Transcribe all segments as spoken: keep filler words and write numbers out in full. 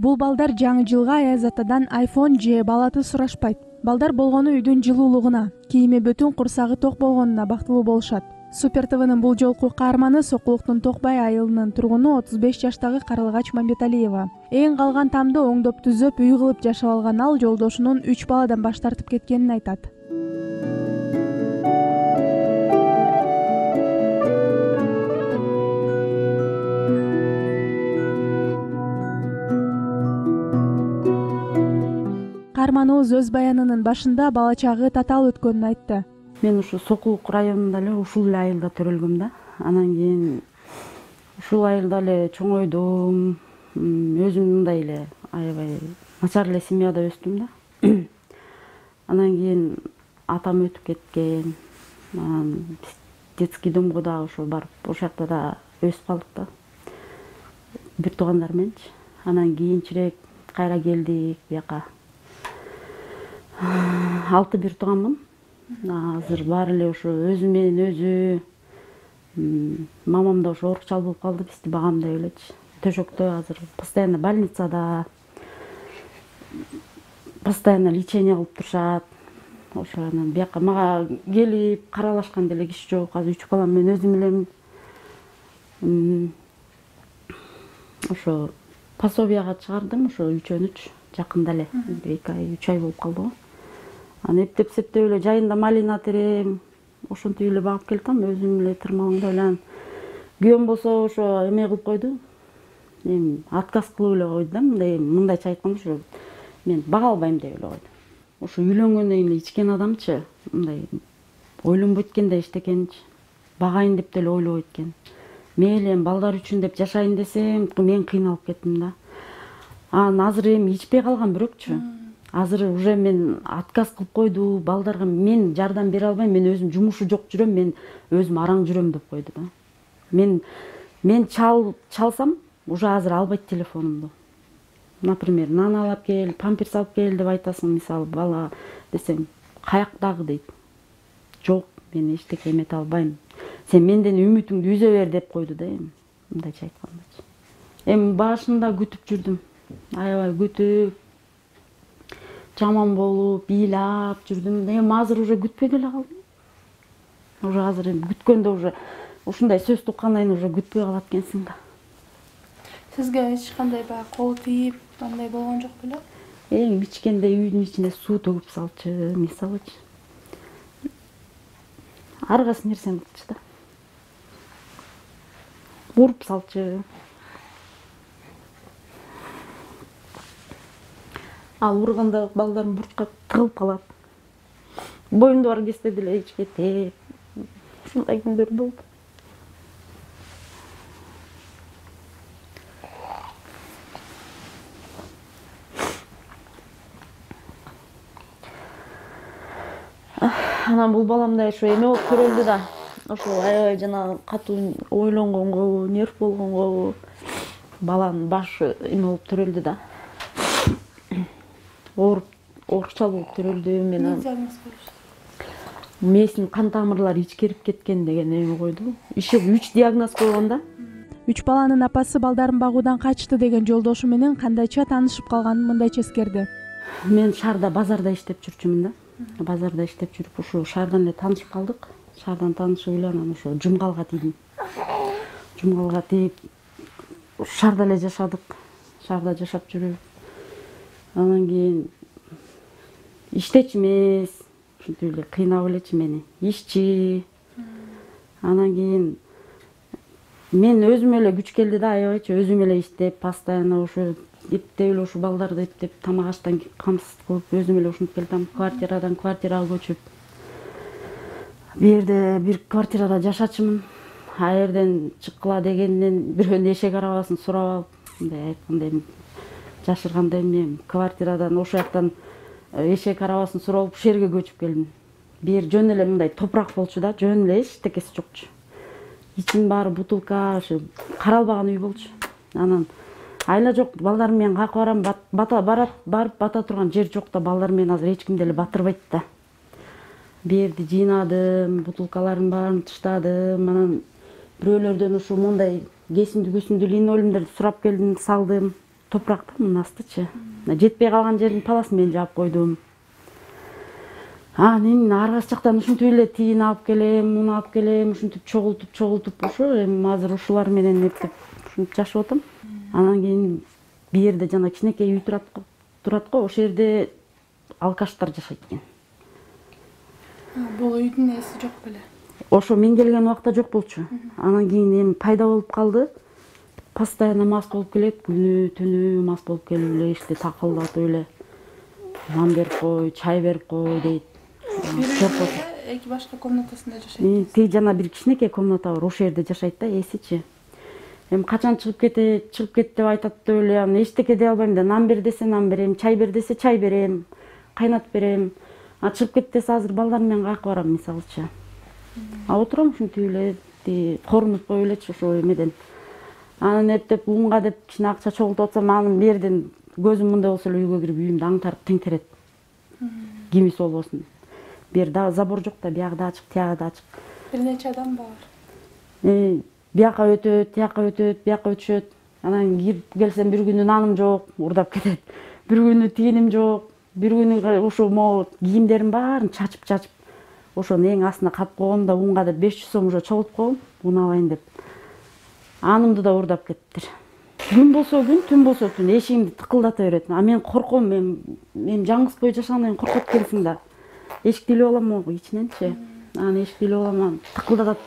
Бул балдар жаңы жылга Аяз атадан айфон же балаты сурашпайт. Балдар болгону үйдүн жылуулугуна, кийими бүтүн, курсагы ток болгонуна бактылуу болушат. Супер ТВнын бул жолку каарманы Сокулуктун Токбай айылынын тургуну отуз беш жаштагы Карылгач Мамбеталиева. Эң калган тамды оңдоп түзөп үй кылып жашап алган ал жолдошунун үч баладан баш тартып кеткенин айтат. Каарманыбыз өз баянынын башында бала чагы татаал өткөнүн айтты. Мен ушу Сокулук районунда эле ушул эле айылда төрөлгөм да. Анан кийин ушул айылда эле чоңойдум. Өзүм мындай эле аябай начар эле семьяда өстүм да. Анан кийин атам өтүп кеткен. Анан детский домго дагы ошо барып, ошол жакта да өсүп калдык да. Бир туугандар мененчи. Анан кийинчерээк кайра келдик бияка. Алты бир тууганмын. Азыр баары эле ошо өзү менен өзү. Мамам да ошо оорукчал болуп калды, бизди багамдай элечи. Төшөктө азыр постоянно больницада, постоянно лечение кылып турушат. Ошо анан бияка мага келип каралашкан деле киши жок. Азыр үч балам мен өзүм элем. Ошо пособияга чыгардым, ошо үчөөнүч жакында эле, эки ай, үч ай болуп калды го. Аны эптеп септеп эле жайында малина терем, ошентип эле багып келатам, өзүм эле тырмалаңдап эле. Күйөөм болсо ошо эме кылып койду. Эми отказ кылып эле койду да, мындай мындайча айтканда ошо мен бага албайм деп эле койду. Ошо үйлөнгөндөн кийин эле ичкен адамчы мындай ойлонбойт экен да эчтекеничи. Багайын деп деле ойлобойт экен. Мейли эми балдар үчүн деп жашайын десем, мен кыйналып кеттим да. Анан азыр эми ичпей калгам бирөкчү. Азыр уже мен отказ кылып койду, балдарга мен жардам бере албайм, мен өзүм жумушу жок жүрөм, мен өзүм араң жүрөм деп койду да. Мен мен чал чалсам, уже азыр албайт телефонумду. Например, нан алып кел, памперс алып кел деп айтасың, мисалы бала десем, каяктагы дейт. Жок, мен эчтеке эмете албайм. Сен менден үмүтүңдү үзө бер деп койду да эми. Мындайча айтканда. Эми башында күтүп жүрдүм. Аябай күтүп, жаман болуп, ыйлап жүрдүм. Эми азыр уже күтпөй деле калдым. Уже азыр эми күткөндө уже ушундай сөз туккандан кийин уже күтпөй калат экенсиң да. Сизге эч кандай баягы кол тийип, андай болгон жок беле? Эң ичкенде үйдүн ичине суу төгүп салчу, мисалычы. Ар кайсы нерсени кылчу да. Уруп салчу. Ал урганда балдарым бурчка тыгылып калат. Боюмда бар кезде деле ичке тээп. Ушундай күндөр болду. Анан бул балам да ошо эме болуп төрөлдү да. Ошо аябай жана катуу ойлонгонго, нерв болгонго баланын башы эме болуп төрөлдү да. Ооруп, оорукчал болуп төрөлдү. Мен диагноз коюшту. Мээсинин кан тамырлары ичкерип кеткен деген эме койду. Иши үч диагноз койгон да. Үч баланын апасы балдарын багуудан качты деген жолдошу менен кандайча таанышып калганын мындайча эскерди. Мен шаарда базарда иштеп жүрчүмүн да. Базарда иштеп жүрүп, ошо шаардан эле таанышып калдык. Шаардан таанышып эле анан ошо Жумгалга тийдим. Жумгалга тийип, шаарда эле жашадык. Шаарда жашап жүрүп, анан кийин иштечи эмес, ушинтип эле кыйнап элечи мени. Ишчи. Анан кийин мен өзүм эле күч келди да, аябайчы өзүм эле иштеп, постоянно ошо эптеп эле ушу балдарды эптеп, тамак аштан камсыз кылып, өзүм эле ушинтип келатам. Квартирадан квартирага көчүп. Бу жерде бир квартирада жашачумун. А жерден чыккыла дегенден бирөөнүн эшек арабасын сурап алып, мындай айтканда эми жашырганда эми квартирадан ошол жактан эшек арабасын сурап алып, ушул жерге көчүп келдим. Бу жер жөн эле мындай топурак болчу да, жөн эле эчтекеси жокчу. Ичин баары бутылка, ошо каралбаган үй болчу. Анан айла жок, балдарым менен каяка барам, бата барат, барып бата турган жер жок да, балдарым менен азыр эч ким деле батырбайт да. Бу жерди жыйнадым, бутылкалардын баарын таштадым, анан бирөөлөрдөн ушу мондай кесимди көсүмдүү линолеумдерди сурап келдим, салдым, топуракта мунун астычы. Жетпей калган жердин паласын мен жаап койдум. Анан ар кайсы жактан ушинтип эле тиин алып келем, муну алып келем, ушинтип чогултуп чогултуп ошо эми азыр ушулар менен эптеп ушинтип жашап атам. Анан кийин бир жерде жана кичинекей үй турат турат го, ошол жерде алкаштар жашайт экен. Бул үйдүн ээси жок беле? Ошо мен келген убакта жок болчу. Анан кийин эми пайда болуп калды. Постоянно мас болуп келет, күнү түнү мас болуп келип эле ишти такылдатып эле нан берип кой, чай берип кой дейт. Эки башка комнатасында жашайт. Тиги жана бир кичинекей комната бар, ошол жерде жашайт да ээсичи. Эми качан чыгып кетет, чыгып кет деп айтат деп эле, анан эчтеке дей албайм да. Нан бер десе нан берем, чай бер десе чай берем, кайнатып берем. А чыгып кет десе азыр балдарым менен каяка барам мисалычы. А отурам ушинтип эле, корунуп коюп элечи ошо эмеден. Анан эптеп унга деп кичине акча чогултуп атсам, анын бул жерден көзүм мындай болсо эле үйгө кирип үйүмдү аңтарып теңтерет. Кимиси болбосун. Бу жерде забор жок да, биягы да ачык, тиягы да ачык. Бир нече адам бар. Э, бияка өтөт, тияка өтөт, бияка өтүшөт. Анан кирип келсем бир күнү наным жок, урдап кетет. Бир күнү тииним жок, бир күнү ошо могу кийимдерим баарын чачып-чачып, ошонун эң астына кап койгом да унга деп беш жүз сом уже чогултуп койгом, уну алайын деп. Анымды да урдап кеттир. Күн болсо күн, түн болсо түн эшигимди тыкылдата берет. А мен корком, мен мен жаңгыз бою жашагандан кийин коркот экенсиң да. Эшикти илеп алам могу ичиненчи. Анан эшикти илеп алам, тыкылдатат.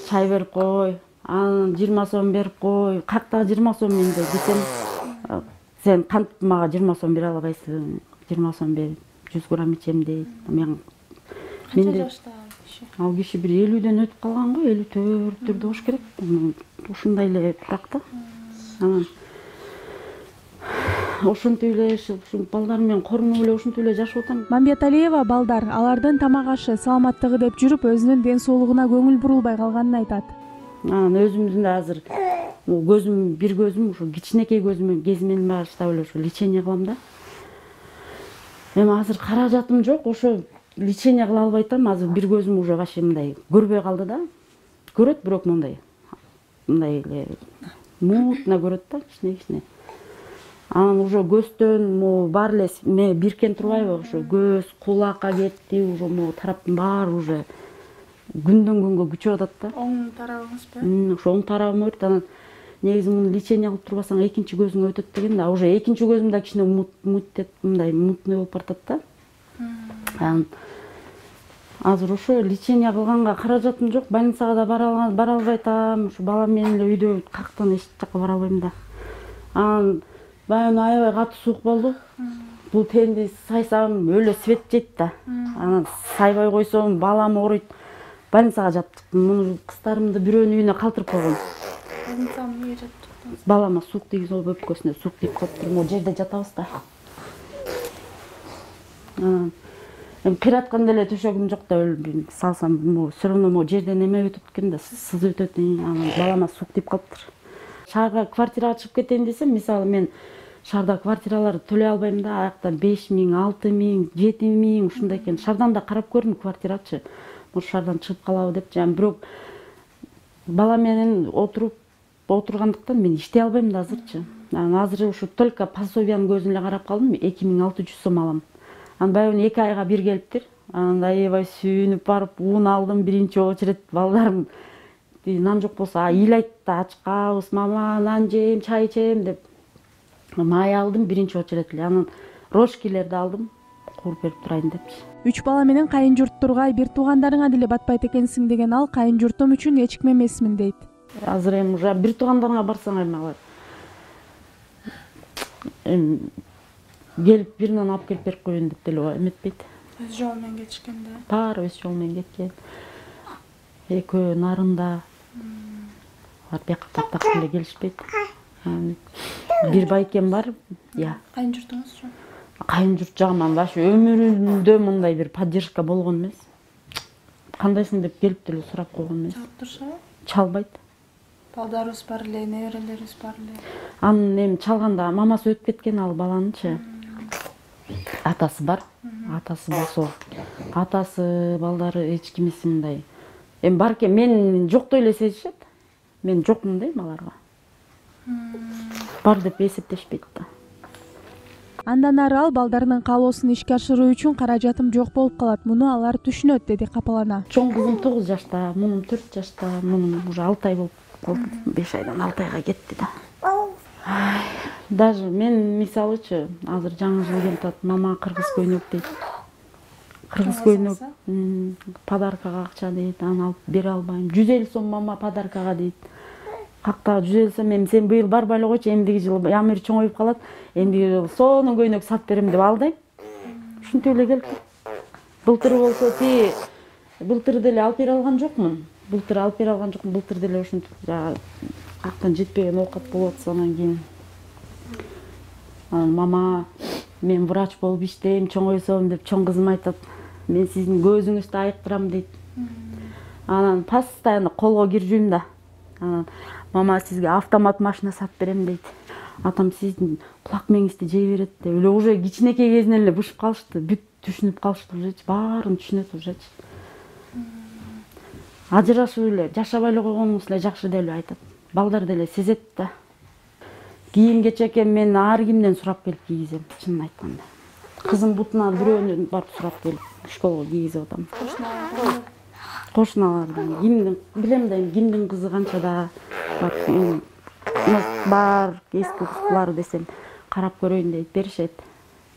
Чай берип кой, анан жыйырма сом берип кой. Каяктагы жыйырма сом менде десем, сен кантип мага жыйырма сом бере албайсың? жыйырма сом бер, жүз грамм ичем дейт. Мен Канча жашта киши? Ал киши бир элүүдөн өтүп калган го, элүү төрттөрдө болуш керек. Ушундай эле туракта. Анан ошентип эле ушул балдарым менен корунуп эле ушинтип эле жашап атам. Мамбеталиева балдар алардын тамак ашы, саламаттыгы деп жүрүп өзүнүн ден соолугуна көңүл бурулбай калганын айтат. Анан өзүмдүн да азыр көзүм, бир көзүм ушу кичинекей көзүм кезимен баштап эле ушу лечение кылам да. Эми азыр каражатым жок, ошо лечение кыла албай атам. Азыр бир көзүм уже вообще мындай көрбөй калды да. Көрөт, бирок мындай мындай эле мутно көрөт да, кичине-кичине. Анан уже көздөн могу баары эле ме биркен турбайбы, ошо көз, кулакка кетти, уже могу тараптын баары уже күндөн күнгө күчөп атат да. Оң тарабыңызбы? Ошо оң тарабым өрт. Анан негизи муну лечение кылып турбасаң экинчи көзүң өтөт деген да. Уже экинчи көзүм да кичине мут мындай мутный болуп баратат да. Анан азыр ошо лечение кылганга каражатым жок, больницага да бара албай атам. Ушу балам менен эле үйдө каяктан эч жакка бара албайм да. Анан баягы аябай катуу суук болду. Бул тенди сайсам өлө свет жейт да. Анан сайбай койсом балам ооруйт. Больницага жаттык. Муну кыздарымды бирөөнүн үйүнө калтырып койгом. Больницага эмнеге жаттык? Балама суук тийгизип алып өпкөсүнө суук тийип калыптыр. Могу жерде жатабыз да. Анан эми кыйратканда эле төшөгүм жок да, салсам могу все равно могу жерден эме өтөт экен да, сызып өтөт. Анан балама суук тийип калыптыр. Шаарга квартирага чыгып кетейин десем, мисалы мен шаарда квартираларды төлөй албайм да. Аякта беш миң, алты миң, жети миң ушундай экен. Шаардан да карап көрдүм квартирачы. Может шаардан чыгып калабы деп, жана бирок бала менен отуруп отургандыктан мен иштей албайм да азырчы. Анан азыр ушу только пособиянын көзүн эле карап калдым, эки миң алты жүз сом алам. Анан баягы эки айга бир келиптир. Анан аябай сүйүнүп барып ун алдым биринчи очередь. Балдарым нан жок болсо ыйлайт да, ачкабыз, мама нан жейм, чай ичем деп. Май алдым биринчи очередь эле. Анан рожкилерди алдым, кууруп берип турайын депчи. Үч бала менен кайын журттурга, бир туугандарыңа деле батпайт экенсиң деген ал кайын журтум үчүн эч ким эмесмин дейт. Азыр эми уже бир туугандарыңа барсаң эми алар эми келип бир нан алып келип берип коеюн деп деле эметпейт. Өз жолу менен кетишкен да. Баары өз жолу менен кеткен. Экөө нарында. Алар бияка таптак эле келишпейт. Бир байкем бар, я. Кайын журтуңузчу? Кайын журт жагыман башы өмүрүндө мындай бир поддержка болгон эмес. Кандайсың деп келип деле сурап койгон эмес. Чалып турушабы? Чалбайт. Балдарыбыз бар эле, неберелерибиз бар эле. Анын эми чалганда мамасы өтүп кеткен ал баланычы. Атасы бар. Атасы болсо, атасы, балдары эч кимиси мындай. Эми бар экен, мен жоктой эле сезишет. Мен жокмун дейм аларга. бар деп эсептешпейт да. Андан ары ал балдарынын каалоосун ишке ашыруу үчүн каражатым жок болуп калат. Муну алар түшүнөт, деди капалана. Чоң кызым тогуз жашта, мунун төрт жашта, мунун уже алты ай болуп калды. беш айдан алты айга кетти да. Даже мен мисалычы азыр жаңы жыл келип атат, мама кыргыз көйнөк дейт. Кыргыз көйнөк подаркага акча дейт, аны алып бере албайм. жүз элүү сом мама подаркага дейт. Какта жүз элүү сом, эми сен быйыл барбай эле койчу, эмдиги жылы Амир чоңоюп калат, эмдиги жылы сонун көйнөк сатып берем деп алдайм. Ушинтип эле келип. Былтыр болсо ти былтыр деле алып бере алган жокмун. Былтыр алып бере алган жокмун. Былтыр деле ушинтип жана каяктан жетпеген оокат болуп атса анан кийин мама мен врач болуп иштейм, чоңойсом деп чоң кызым айтат. Мен сиздин көзүңүздү айыктырам дейт. Анан постоянно колго киржүйм да. Анан мама сизге автомат машина сатып берем дейт. Атам сиздин кулак меңизди жей берет деп эле уже кичинекей кезинен эле бышып калышты. Бүт түшүнүп калышты ужечи, баарын түшүнөт ужечи. Ажырашып эле, жашабай эле койгонуңуз эле жакшы деп эле айтат. Балдар деле сезет да. Кийим кечеке мен ар кимден сурап келип кийгизем, чынын айтканда. Кызым бутуна бирөөнүн барып сурап келип школго кийгизип атам. Кошуналардан, кимдин билем да, кимдин кызы канчада бар, бар эски кызлар десем карап көрөйүн дейт, беришет.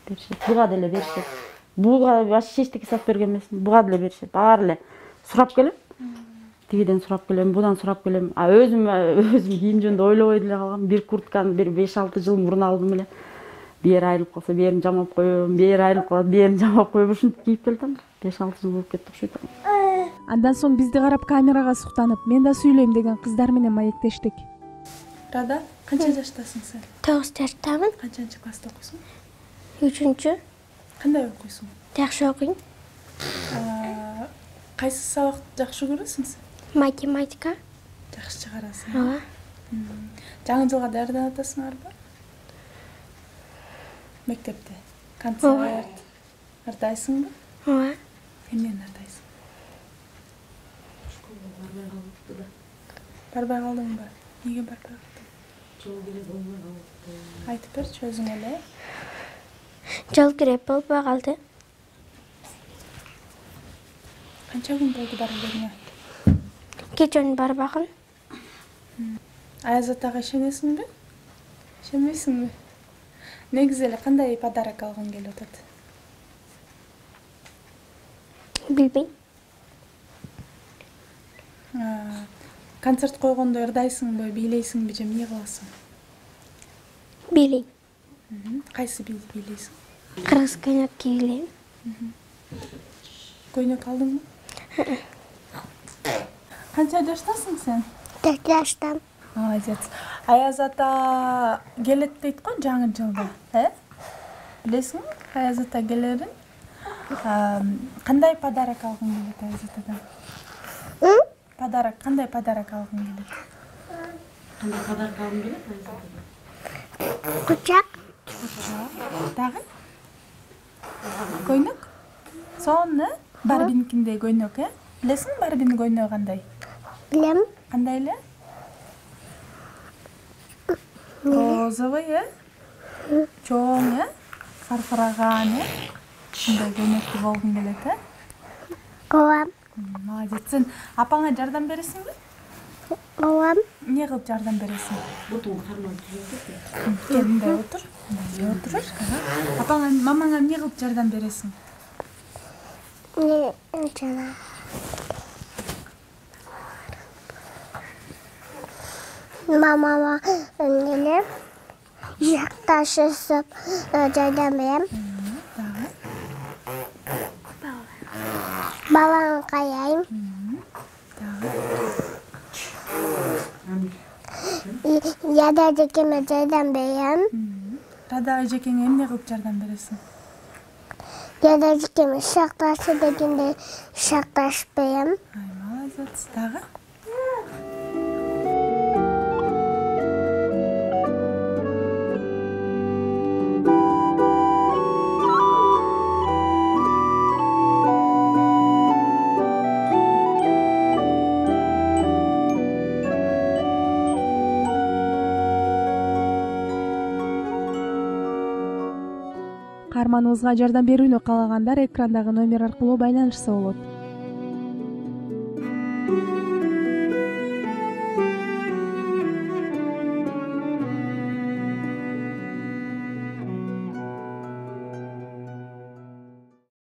Беришет. Буга деле беришет. Буга вообще эчтеке сатып берген эмесмин. Буга деле беришет. Баары эле сурап келем. Тигиден сурап келем, будан сурап келем. А өзүм өзүм кийим жөнүндө ойлобой деле калгам. Бир куртканы бир беш алты жыл мурун алдым эле. Бери айрылып калса, берин жамап коем, бери айрылып калат, берин жамап коем, ушинтип кийип келатам. беш алты жыл болуп кетти окшойт. Андан соң бизди карап камерага суктанып, мен да сүйлөйм деген кыздар менен маектештик. Рада, канча жаштасың сен? тогуз жаштамын. Канчанчы класста окуйсуң? үчүнчү. Кандай окуйсуң? Жакшы окуйм. Кайсы сабакты жакшы көрөсүң сен? Математика. Жакшы чыгарасың. Ооба. Жаңы жылга даярданып атасыңарбы? Мектепте концерт ардайсыңбы? Ооба. Эмнени ардайсың? Барбай калдыңбы? Эмнеге барбай калдың? Жол керек болбой калды. Айтып берчи өзүң эле. Жол керек болбой калды. Канча күн болду барбагыңа? Кечен барбагын. Аяз атага ишенесиңби? Ишенбейсиңби? Негизи эле кандай подарок алгың келип атат? Билбейм. Концерт койгондо ырдайсыңбы, бийлейсиңби же эмне кыласың? Бийлейм. Кайсы бийди бийлейсиң? Кыргыз көйнөк кийлейм. Көйнөк алдыңбы? Канча жаштасың сен? төрт жаштам. Молодец. Аяз ата келет дейт го жаңы жылда, э? Билесиңби? Аяз ата келерин. Кандай подарок алгың келет Аяз атадан? Подарок, кандай подарок алгың келет? Кандай подарок алгың келет Аяз атадан? Кучак. Дагы? Көйнөк? Сонун, э? Барбинкиндей көйнөк, э? Билесиңби Барбинин көйнөгү кандай? Билем. Кандай эле? Розовый, э? Чоң, э? Фарфыраган, э? Ушундай көйнөктү болгуң келет, э? Ооба. Молодец. Сен апаңа жардам бересиңби? Ооба. Эмне кылып жардам бересиң? Бутун карман түзөтөт. Кел, мындай отур. Мындай отур. Апаңа, мамаңа эмне кылып жардам бересиң? Не жана. Мамама эмнеле жакташысып жардам берем. Дагы? Баланы каяйм. Яда жекеме жардам берем. Рада эжекеңе эмне кылып жардам бересиң? Яда жекеме шакташы дегенде шакташып берем. Ай, молодец. Дагы? каарманыбызга жардам берүүнү каалагандар экрандагы номер аркылуу байланышса болот.